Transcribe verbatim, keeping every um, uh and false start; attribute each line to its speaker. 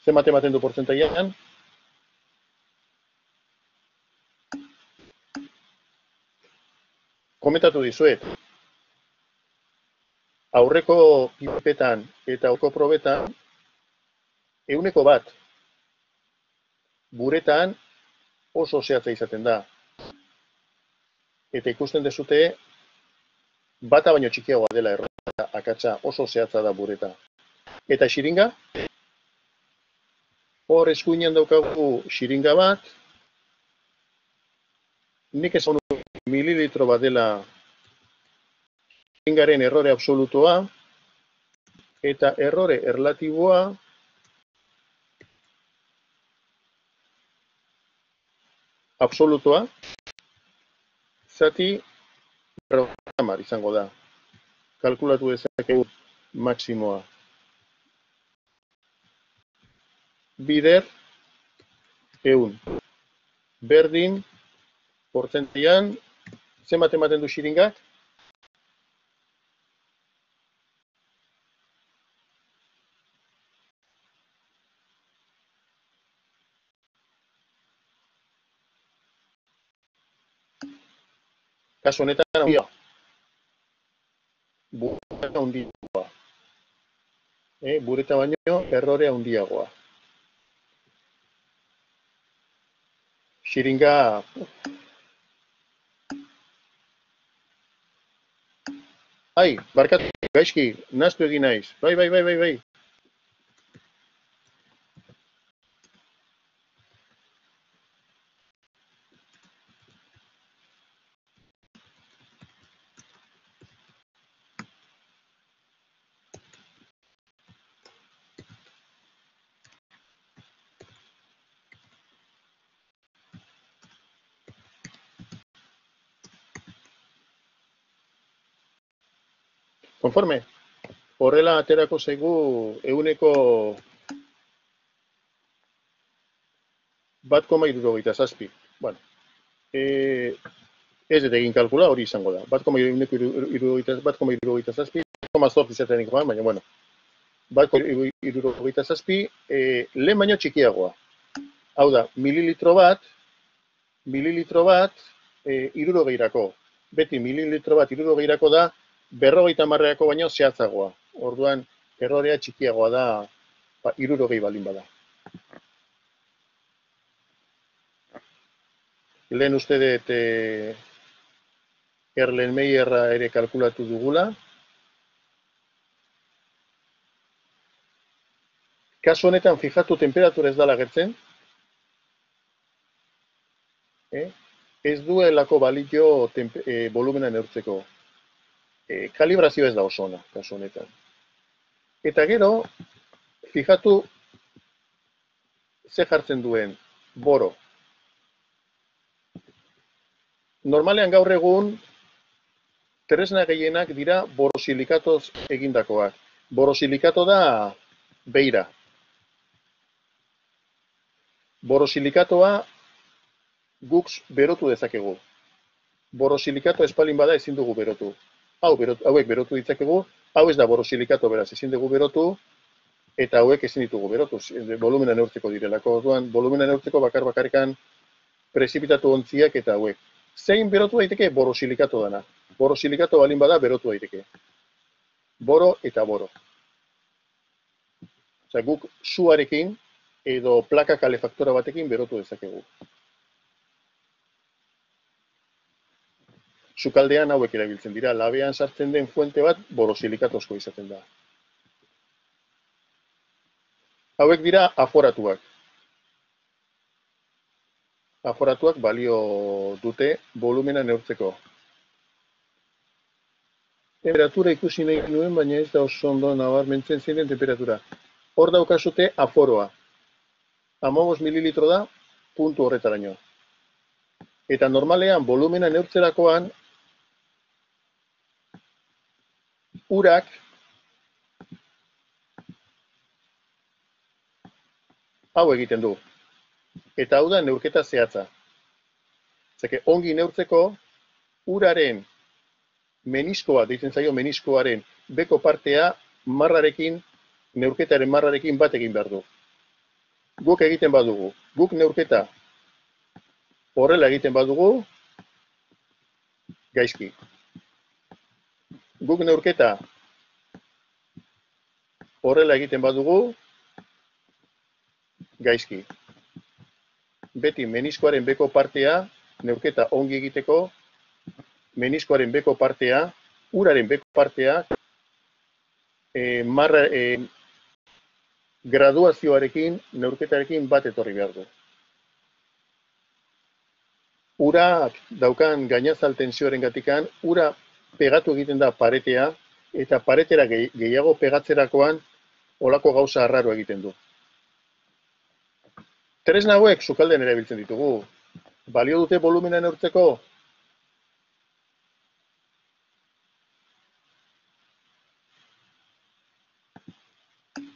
Speaker 1: Zenbat ematen du portzentaian? Komentatu dizuet. Aurreko pipetan eta aurreko probetan, ehuneko bat. Buretan oso zehatza izaten da. Eta ikusten dezute, bata baino txikiagoa dela errota, akatsa oso zehatza da bureta. Eta xiringa? Hor eskuinean daukagu xiringa bat, nik esan mililitro bat dela xiringaren errore absolutoa, eta errore erlatiboa absolutoa, zati berrogeita hamar izango da. Kalkulatu dezakegu maksimoa. Bider, ehun. Berdin, portzentaian, zenbat ematen du xiringak? Kasu honetan, handia. Bureta handiagoa. Eh, bureta baino, errore handiagoa. Xiringa... Ai, barkatu, gaizki, naztu egin naiz. Bai, bai, bai, bai, bai. Konforme, horrela aterako zaigu ehuneko bat koma hirurogeita zazpi. Bueno, e, ez dut egin kalkula, hori izango da. Bat koma hirurogeita zazpi, koma zortzi izaten ikoan, baina, bueno. Bat koma hirurogeita zazpi, e, lehen baino txikiagoa. Hau da, mililitro bat, mililitro bat, e, hirurogeirako. Beti mililitro bat hirurogeirako da, berrogeita hamarreako baino zehatzagoa. Orduan, errorea txikiagoa da, ba, hirurogei balin bada. Lehen uste dut e, Erlenmeyerra ere kalkulatu dugula. Kasu honetan, fijatu, temperatura ez dala gertzen. Eh? Ez duelako balio e, volumena neurtzeko. E, kalibrazio ez da oso ona, kasu honetan. Eta gero, fijatu, ze jartzen duen boro. Normalean gaur egun, tresna gehienak dira borosilikatoz egindakoak. Borosilikato da beira. Borosilikatoa guk berotu dezakegu. Borosilikato espalin bada ezin dugu berotu. Hau, berotu, hauek berotu ditzakegu, hau ez da borosilikato beraz, ezin dugu berotu, eta hauek ezin ditugu berotu, volumena neurtzeko direlako. Orduan, volumena neurtzeko bakar bakarrikan prezipitatu ontziak eta hauek. Zein berotu daiteke? Borosilikato dana. Borosilikato balin bada berotu daiteke. Boro eta boro. Osea, guk suarekin edo plaka kalefaktora batekin berotu dezakegu. Sukaldean hauek erabiltzen dira, labean sartzen den fuente bat borosilikatozko izaten da. Hauek dira aforatuak. Aforatuak balio dute volumena neurtzeko. Temperatura ikusi nahi nuen, baina ez da oso ondo nabarmentzen zein den temperatura. Hor daukazute aforoa. hamabost mililitro da, puntu horretaraino. Eta normalean volumena neurtzerakoan, urak hau egiten du. Eta hau da neurketa zehatza. Zeke, ongi neurtzeko, uraren meniskoa, deitzen zaio meniskoaren beko partea marrarekin, neurketaren marrarekin bat egin behar du. Guk egiten badugu, guk neurketa horrela egiten badugu, gaizki. Guk neurketa horrela egiten badugu, gaizki. Beti meniskoaren beko partea, neurketa ongi egiteko, meniskoaren beko partea, uraren beko partea, e, marra, e, graduazioarekin, neurketarekin bat etorri behar du. Urak daukan gainazal tensioaren gatikan, ura pegatu egiten da paretea, eta paretera gehiago pegatzerakoan olako gauza arraro egiten du. Tresna hauek sukaldean erabiltzen ditugu. Balio dute volumena neurtzeko?